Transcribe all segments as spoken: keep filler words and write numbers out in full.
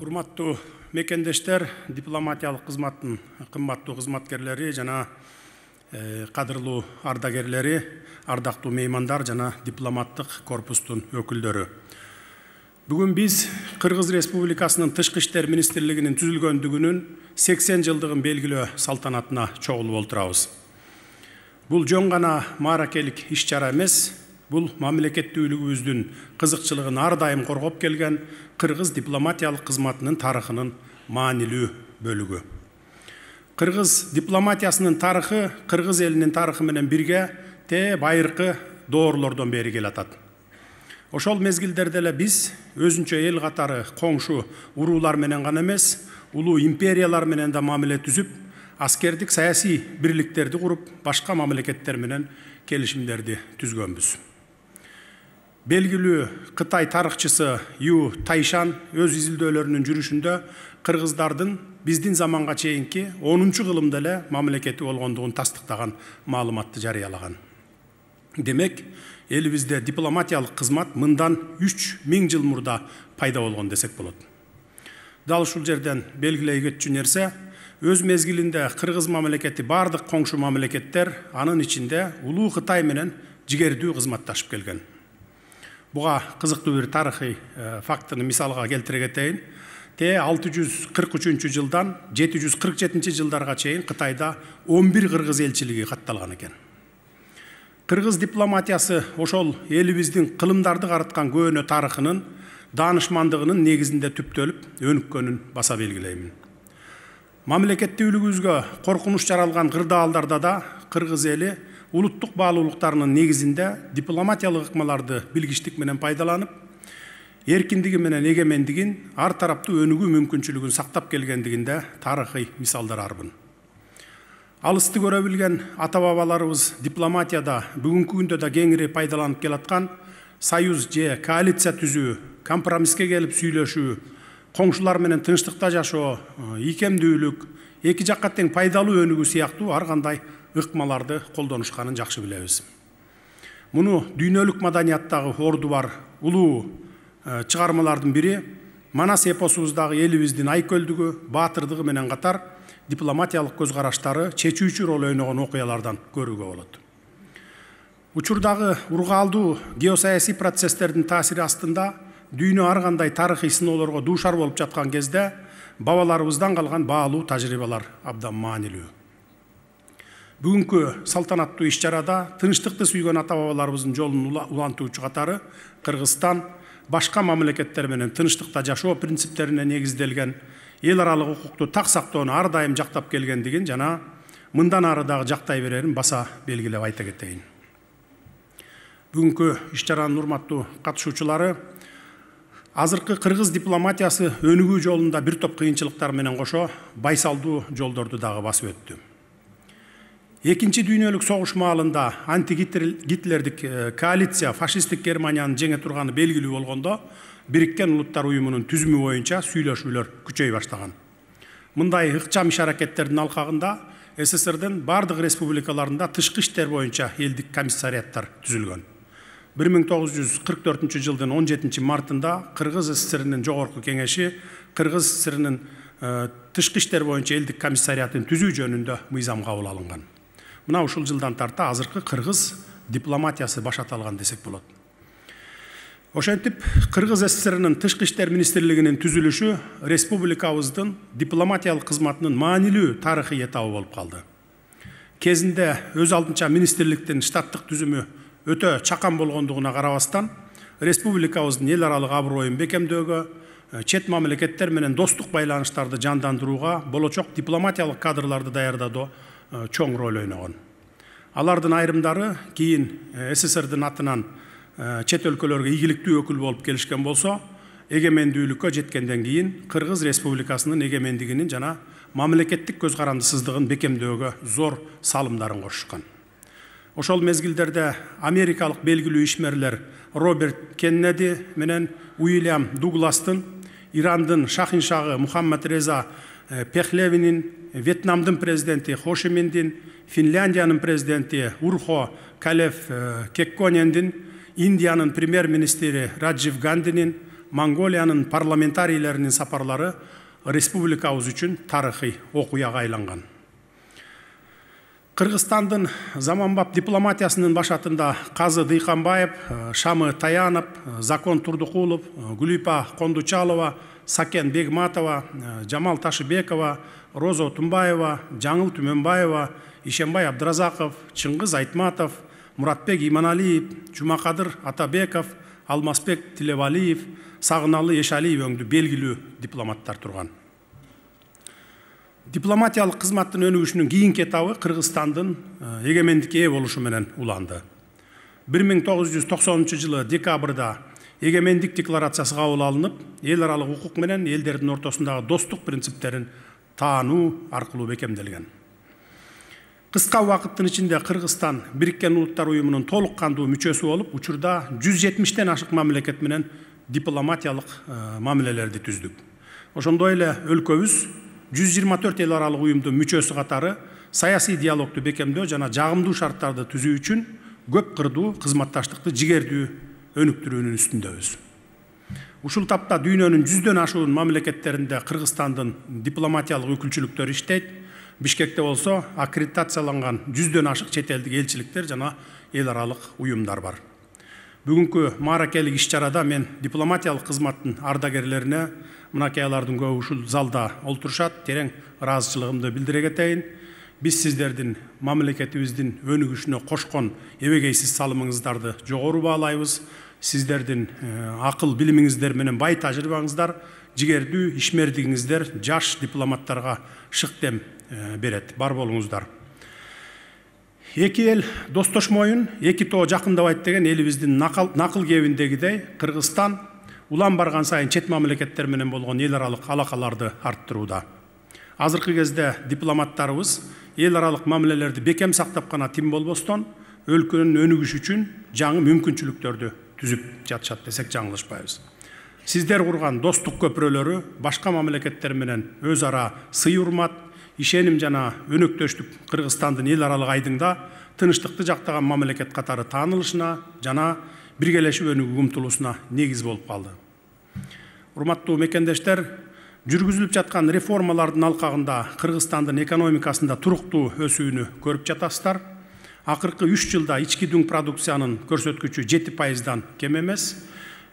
Урматтуу мекендештер, дипломатиялык кызматтын кымбаттуу кызматкерлери жана кадырлуу ардагерлери, ардактуу меймандар жана дипломаттык корпустун өкүлдөрү. Бүгүн биз Кыргыз Республикасынын Тышкы иштер министрлигинин түзүлгөндүгүнүн сексен жылдыгын белгилөө салтанатына чогулуп отурабыз. Бул жөн гана мааракелик иш-чара эмес, бул мамлекеттүүлүгүбүздүн кызыкчылыгын ар дайым коргоп келген Кыргыз дипломатиялык кызматынын тарыхынын маанилүү бөлүгү. Кыргыз дипломатиясынын тарыхы Кыргыз элинин тарыхы менен бирге те байыркы доорлордон бери келатат. Ошол мезгилдерде эле биз өзүнчө эл катары коңшу уруулар менен гана эмес, улуу империялар менен да мамиле түзүп, аскердик саясий бирликтерди куруп, башка мамлекеттер менен келишимдерди түзгөнбүз. Белгилүү Кытай тарыхчысы Ю Тайшан өз изилдөөлөрүнүн жүрүшүндө кыргыздардын биздин заманга чейинки онунчу кылымда эле мамлекети болгондугун тастыктаган маалыматты жарыялаган. Демек, элибизде дипломатиялык кызмат мындан үч миң жыл мурда пайда болгон десек болот. Дал ушул жерден белгилей кетчү нерсе, өз мезгилинде Кыргыз мамлекети бардык коңшу мамлекеттер, анын ичинде улуу Кытай менен жигердүү кызматташып келген. Буга кызыктуу бир тарыхый фактыны мисалга келтире кетейин. Те алты жүз кырк үчүнчү жылдан жети жүз кырк жетинчи жылдарга чейин Кытайда он бир кыргыз элчилиги катталган экен. Кыргыз дипломатиясы ошол элибиздин кылымдарды карыткан көөнө тарыхынын даанышмандыгынын негизинде түптөлүп, өнүккөнүн баса белгилеймин. Мамлекеттүүлүгүбүзгө коркунуч жаралган кырдаалдарда да кыргыз эли улуттук баалуулуктарынын негизинде дипломатиялык ыкмаларды билгичтик менен пайдаланып, эркиндиги менен эгемендигин, ар тараптуу өнүгүү мүмкүнчүлүгүн сактап келгендигинде тарыхый мисалдар арбын. Алысты көрө билген ата-бабаларыбыз дипломатияда бүгүнкү күндө да кеңири пайдаланып келаткан союз же коалиция түзүү, компромисске келип сүйлөшүү, коңшулар менен тынчтыкта жашоо, ийкемдүүлүк, эки жакка тең пайдалуу өнүгүү сыяктуу ар кандай ыкмаларды колдонушканын жакшы билебиз. Муну дүйнөлүк маданияттагы орду бар улуу чыгармалардын бири Манас эпосубуздагы элибиздин айкөлдүгү, баатырдыгы менен катар дипломатиялык көз караштары чечүүчү роль ойногон окуялардан көрүүгө болот. Учурдагы ургаалдуу геосаясий процесстердин таасири астында дүйнө ар кандай тарыхый сыноолорго дуушар болуп жаткан кезде бабаларыбыздан калган баалуу тажрыйбалар абдан маанилүү. Бүгүнкү салтанаттуу иш-чарада тынчтыкты сүйгөн ата-бабаларыбыздын жолун улантуучу катары Кыргызстан башка мамлекеттер менен тынчтыкта жашоо принциптерине негизделген эл аралык укукту так сактоону ар дайым жактап келгендигин жана мындан ары дагы жактай берерин баса белгилеп айта кетейин. Бүгүнкү иш-чаранын урматтуу катышуучулары, азыркы кыргыз дипломатиясы өнүгүү жолунда бир топ кыйынчылыктар менен кошо байсалдуу жолдорду дагы басып өттү. Экинчи дүйнөлүк согуш маалында анти-гитлердик коалиция фашисттик Германияны жеңе турганы белгилүү болгондо, Бириккен Улуттар уюмунун түзүмү боюнча сүйлөшүүлөр күчөй баштаган. Мындай ыкчам иш-аракеттердин алкагында СССРдин бардык республикаларында тышкы иштер боюнча элдик комиссариаттар түзүлгөн. бир миң тогуз жүз кырк төртүнчү жылдын он жетинчи мартында Кыргыз СССРинин жогорку кеңеши Кыргыз СССРинин тышкы иштер боюнча элдик комиссариатын түзүү жөнүндө мыйзам кабыл алынган. Мына ушул жылдан тарта азыркы кыргыз дипломатиясы башаталган десек болот. Ошентип, Кыргыз СССРинин Тышкы иштер министрлигинин түзүлүшү республикабыздын дипломатиялык кызматынын маанилүү тарыхый этабы болуп калды. Кезинде өз алдынча министрликтин штаттык түзүмү өтө чакан болгондугуна карабастан, республикабыздын эл аралык аброюн бекемдөөгө, чет мамлекеттер менен достук байланыштарды жандандырууга, болочок дипломатиялык кадрларды даярдоодо чоң роль ойногон. Алардын айрымдары кийин СССРдин атынан чет өлкөлөргө ийгиликтүү өкүл болуп келишкен болсо, эгемендүүлүккө жеткенден кийин Кыргыз Республикасынын эгемендигинин жана мамлекеттик көз карандысыздыгын бекемдөөгө зор салымдарын кошушкан. Ошол мезгилдерде америкалык белгилүү ишмерлер Роберт Кеннеди менен Уильям Дугластын, Ирандын шахиншагы Мухаммад Реза Пехлевинин, Вьетнамдын президенти Хо Чи Миндин, Финляндиянын президенти Урхо Калеф Кекконендин, Индиянын премьер-министри Раджив Гандинин, Монголиянын парламентарийлеринин сапарлары республикабыз үчүн тарыхый окуяга айланган. Кыргызстандын заманбап дипломатиясынын башатында Казы Дыйканбаев, Шамы Таянов, Закон Турдукулов, Гүлипа Кондучалова, Сакен Бегматова, Жамал Ташыбекова, Роза Тумбаева, Жаңыл Түмөнбаева, Ишенбай Абдыразаков, Чыңгыз Айтматов, Муратбек Иманалиев, Жумакадыр Атабеков, Алмазбек Тилебалиев, Сагыналы Эшалиев өңдү белгилүү дипломаттар турган. Дипломатиялык кызматтын өнүгүшүнүн кийинки этабы Кыргызстандын эгемендикке ээ болушу менен уланды. бир миң тогуз жүз токсонунчу жылы декабрда эгемендик декларациясы кабыл алынып, эл аралык укук менен элдердин ортосундагы достук принциптерин таануу аркылуу бекемделген. Кыска убакыттын ичинде Кыргызстан Бириккен Улуттар уюмунун толук кандуу мүчөсү болуп, учурда жүз жетимиштен ашык мамлекет менен дипломатиялык мамилелерди түздүк. Ошондой эле өлкөбүз жүз жыйырма төрт эл аралык уюмдун мүчөсү катары саясий диалогду бекемдөө жана жагымдуу шарттарды түзүү үчүн көп кырдуу кызматташтыкты жигердүү өнүктүрүүнүн үстүндөбүз. Ушул тапта дүйнөнүн жүздөн ашуун мамлекеттеринде Кыргызстандын дипломатиялык өкүлчүлүктөрү иштейт. Бишкекте болсо аккредитацияланган жүздөн ашык чет элдик элчиликтер жана эл аралык уюмдар бар. Бүгүнкү мааракелик иш-чарада мен дипломатиялык кызматтын ардагерлерине, мынакей алардын көбү ушул залда олтурушат, терең ыраазычылыгымды билдире кетейин. Биз сиздердин мамлекетибиздин өнүгүшүнө кошкон эбегейсиз салымыңыздарды жогору баалайбыз. Сиздердин акыл билимиңиздер менен бай тажрыйбаңыздар, жигердүү ишмердигиңиздер жаш дипломаттарга шык дем берет. Бар болуңуздар. Эки эл достошмоюн, эки тоо жакындабайт деген элибиздин накыл кебиндегидей, Кыргызстан улам барган сайын чет мамлекеттер менен болгон эл аралык алакаларды арттырууда. Азыркы кезде дипломаттарыбыз эл аралык мамилелерди бекем сактап гана тим болбостон, өлкөнүн өнүгүшү үчүн жаңы мүмкүнчүлүктөрдү түзүп жатышат десек жаңылышпайбыз. Сиздер курган достук көпүрөлөрү башка мамлекеттер менен өз ара сый урмат, ишеним жана өнөктөштүк Кыргызстандын эл аралык айдыңда тынычтыкты жактаган мамлекет катары таанылышына жана биргелешип өнүгүүгө умтулуусуна негиз болуп калды. Урматтуу мекендештер, жүргүзүлүп жаткан реформалардын алкагында Кыргызстандын экономикасында туруктуу өсүүнү көрүп жатасыздар. Акыркы үч жылда ички дүң продукциянын көрсөткүчү жети пайыздан кем эмес.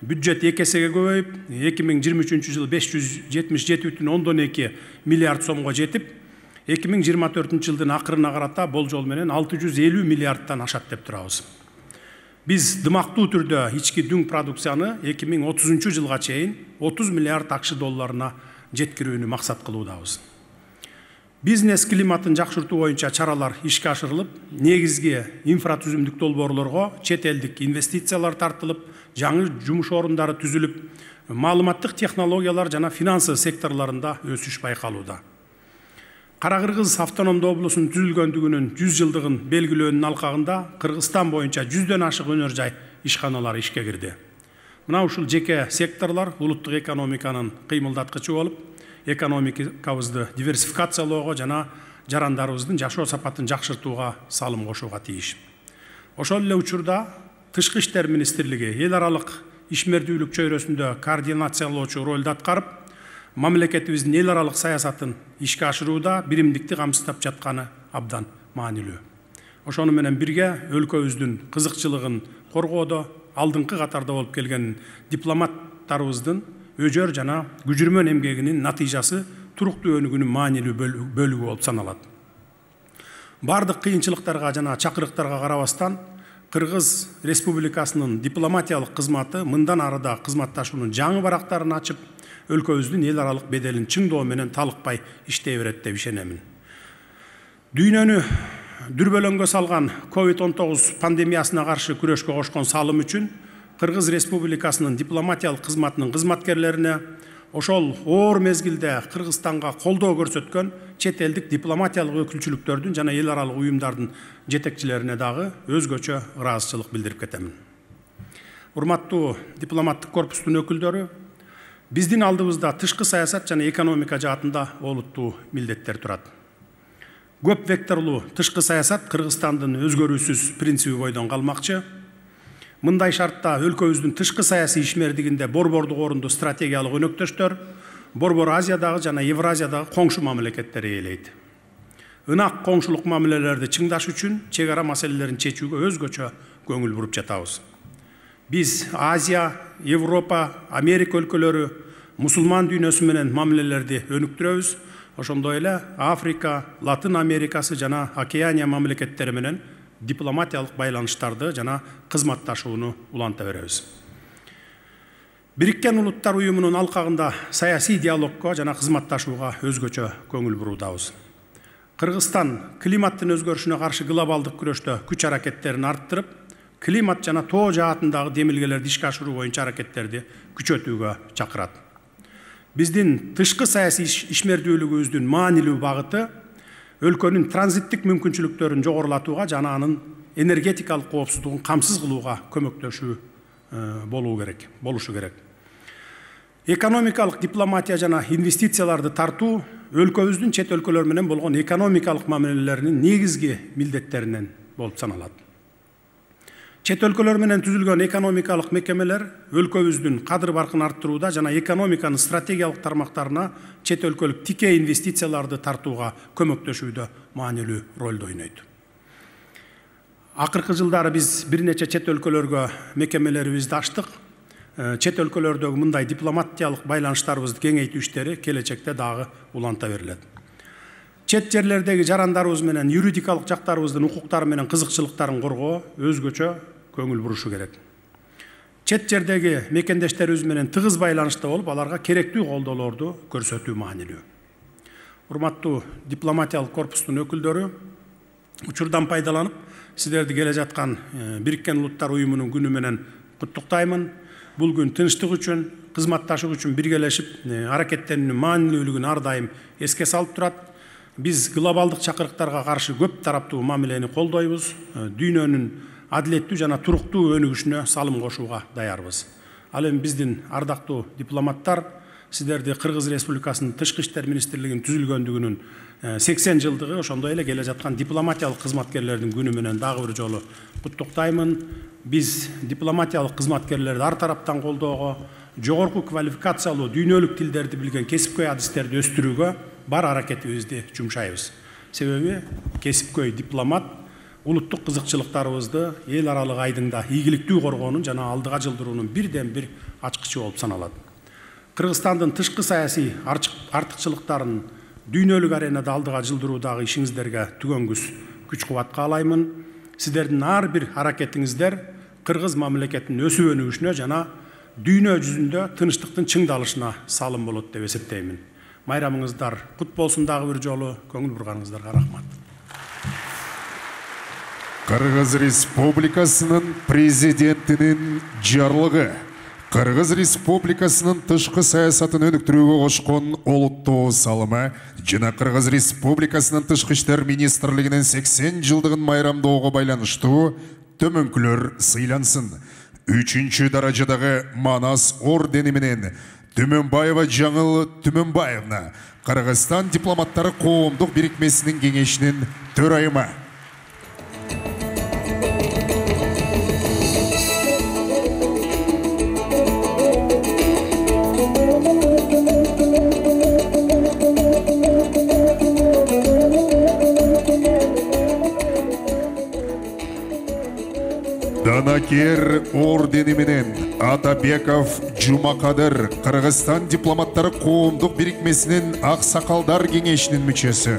Бюджет эки эсеге көбөйүп, эки миң жыйырма үчүнчү жылы беш жүз жетимиш жети бүтүн ондон эки миллиард сомго жетип, эки миң жыйырма төртүнчү жылдын акырына карата болжол менен алты жүз элүү миллиардтан ашат деп турабыз. Биз дымактуу түрдө ички дүң продукцияны эки миң отузунчу жылга чейин отуз миллиард акш долларына жеткирүүнү максат кылуудабыз. Бизнес климатын жакшыртуу боюнча чаралар ишке ашырылып, негизги инфратүзүмдүк долбоорлорго чет элдик инвестициялар тартылып, жаңы жумуш орундары түзүлүп, маалыматтык технологиялар жана финансы секторлорунда өсүш байкалууда. Кара Кыргыз автономдуу облусунун түзүлгөндүгүнүн жүз жылдыгын белгилөөнүн алкагында Кыргызстан боюнча жүздөн ашык өнөр жай ишканалары ишке кирди. Мына ушул жеке секторлор улуттук экономиканын кыймылдаткычы болуп, экономикабызды диверсификациялоого жана жарандарыбыздын жашоо сапатын жакшыртууга салым кошууга тийиш. Ошол эле учурда Тышкы иштер министрлиги эл аралык ишмердүүлүк чөйрөсүндө координациялоочу ролду аткарып, мамлекетибиздин эл аралык саясатын ишке ашырууда биримдикти камсыздап жатканы абдан маанилүү. Ошону менен бирге өлкөбүздүн кызыкчылыгын коргоодо алдыңкы катарда болуп келген дипломаттарыбыздын өжөр жана күжүрмөн эмгегинин натыйжасы туруктуу өнүгүүнүн маанилүү бөлүгү болуп саналат. Бардык кыйынчылыктарга жана чакырыктарга карабастан, Кыргыз Республикасынын дипломатиялык кызматы мындан арыда кызматташуунун жаңы барактарын ачып, өлкөбүздүн эл аралык беделин чыңдоо менен талыкпай иштей берет деп ишенемин. Дүйнөнү дүрбөлөңгө салган ковид он тогуз пандемиясына каршы күрөшкө кошкон салым үчүн Кыргыз Республикасынын дипломатиялык кызматынын кызматкерлерине, ошол оор мезгилде Кыргызстанга колдоо көрсөткөн чет элдик дипломатиялык өкүлчүлүктөрдүн жана эл аралык уюмдардын жетекчилерине дагы өзгөчө ыраазычылык билдирип кетемин. Урматтуу дипломаттык корпустун өкүлдөрү, биздин алдыбызда тышкы саясат жана экономика жаатында олуттуу милдеттер турат. Көп векторлуу тышкы саясат Кыргызстандын өзгөрүүсүз принциби бойдон калмакчы. Мындай шартта өлкөбүздүн тышкы саясий ишмердигинде борбордук орунду стратегиялык өнөктөштөр Борбор Азиядагы жана Евразиядагы коңшу мамлекеттер ээлейт. Ынак коңшулук мамилелерди чыңдаш үчүн чек ара маселелерин чечүүгө өзгөчө көңүл буруп жатабыз. Биз Азия, Европа, Америка өлкөлөрү, мусулман дүйнөсү менен мамилелерди өнүктүрөбүз. Ошондой эле Африка, Латын Америкасы жана Океания мамлекеттери менен дипломатиялык байланыштарды жана кызматташууну уланта беребиз. Бириккен Улуттар уюмунун алкагында саясий диалогко жана кызматташууга өзгөчө көңүл буруудабыз. Кыргызстан климаттын өзгөрүшүнө каршы глобалдык күрөштө күч аракеттерин арттырып, климат жана тоо жаатындагы демилгелерди ишке ашыруу боюнча аракеттерди күчөтүүгө чакырат. Биздин тышкы саясий ишмердүүлүгүбүздүн маанилүү багыты өлкөнүн транзиттик мүмкүнчүлүктөрүн жогорулатууга жана анын энергетикалык коопсуздугун камсыз кылууга көмөктөшүү болуу керек, болушу керек. Экономикалык дипломатия жана инвестицияларды тартуу өлкөбүздүн чет өлкөлөр менен болгон экономикалык мамилелеринин негизги милдеттеринен болуп саналат. Чет өлкөлөр менен түзүлгөн экономикалык мекемелер өлкөбүздүн кадыр баркын арттырууда жана экономиканын стратегиялык тармактарына чет өлкөлүк тикей инвестицияларды тартууга көмөктөшүүдө маанилүү ролду ойнойт. Акыркы жылдары биз бир нече чет өлкөлөргө мекемелерибизди ачтык. Чет өлкөлөрдөгү мындай дипломатиялык байланыштарыбызды кеңейтүү иштери келечекте дагы уланта берилет. Чет жерлердеги жарандарыбыз менен юридикалык жактарыбыздын укуктары менен кызыкчылыктарын коргоо өзгөчө көңүл бурушу керек. Чет жердеги мекендештерибиз менен тыгыз байланышта болуп, аларга керектүү колдоолорду көрсөтүү маанилүү. Урматтуу дипломатиялык корпустун өкүлдөрү, учурдан пайдаланып, сиздерди келе жаткан Бириккен Улуттар уюмунун күнү менен куттуктаймын. Бул күн тынчтык үчүн, кызматташуу үчүн биргелешип аракеттенүүнүн маанилүүлүгүн ар дайым эске салып турат. Биз глобалдык чакырыктарга каршы көп тараптуу мамилени колдойбуз. Дүйнөнүн адилеттүү жана туруктуу өнүгүшүнө салым кошууга даярбыз. Ал эми биздин ардактуу дипломаттар сиздерди Кыргыз Республикасынын Тышкы иштер министрлигинин түзүлгөндүгүнүн сексен жылдыгы, ошондой эле келе жаткан дипломатиялык кызматкерлердин күнү менен дагы бир жолу куттуктаймын. Биз дипломатиялык кызматкерлерди ар тараптан колдоого, жогорку квалификациялуу дүйнөлүк тилдерди билген кесипкөй адистерди өстүрүүгө бар аракетибизди жумшайбыз. Себеби кесипкөй дипломат улуттук кызыкчылыктарыбызды эл аралык айдыңда ийгиликтүү коргоонун жана алдыга жылдыруунун бирден бир ачкычы болуп саналат. Кыргызстандын тышкы саясий артыкчылыктарын дүйнөлүк аренада алдыга жылдыруудагы ишиңиздерге түгөнгүс күч кубат каалаймын. Сиздердин ар бир аракетиңиздер Кыргыз мамлекетинин өсүп өнүгүшүнө жана дүйнө жүзүндө тынчтыктын чыңдалышына салым болот деп эсептеймин. Майрамыңыздар кут болсун дагы бир жолу. Көңүл бурганыңыздарга рахмат. Кыргыз Республикасынын президентинин жарлыгы Кыргыз Республикасынын тышкы саясатын өнүктүрүүгө кошкон олуттуу салымы жана Кыргыз Республикасынын тышкы иштер министрлигинин сексен жылдыгын майрамдоого байланыштуу төмөнкүлөр сыйлансын. Үчүнчү даражадагы Манас ордени менен Түмөнбаева Жаңыл Түмөнбаевна, Кыргызстан дипломаттары коомдук бирикмесинин кеңешинин төрайымы. Данакер ордени менен Атабеков Жумакадыр, Кыргызстан дипломаттары коомдук бирикмесинин аксакалдар кеңешинин мүчөсү.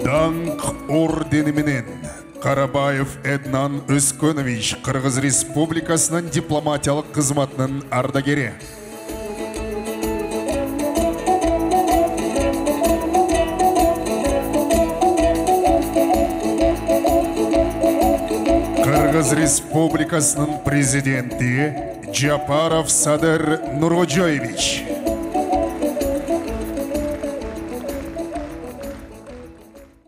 Даңк ордени менен Карабаев Эднан Өскөнович, Кыргыз Республикасынын дипломатиялык кызматынын ардагери. Кыргыз Республикасынын президенти Жапаров Садыр Нурожоевич.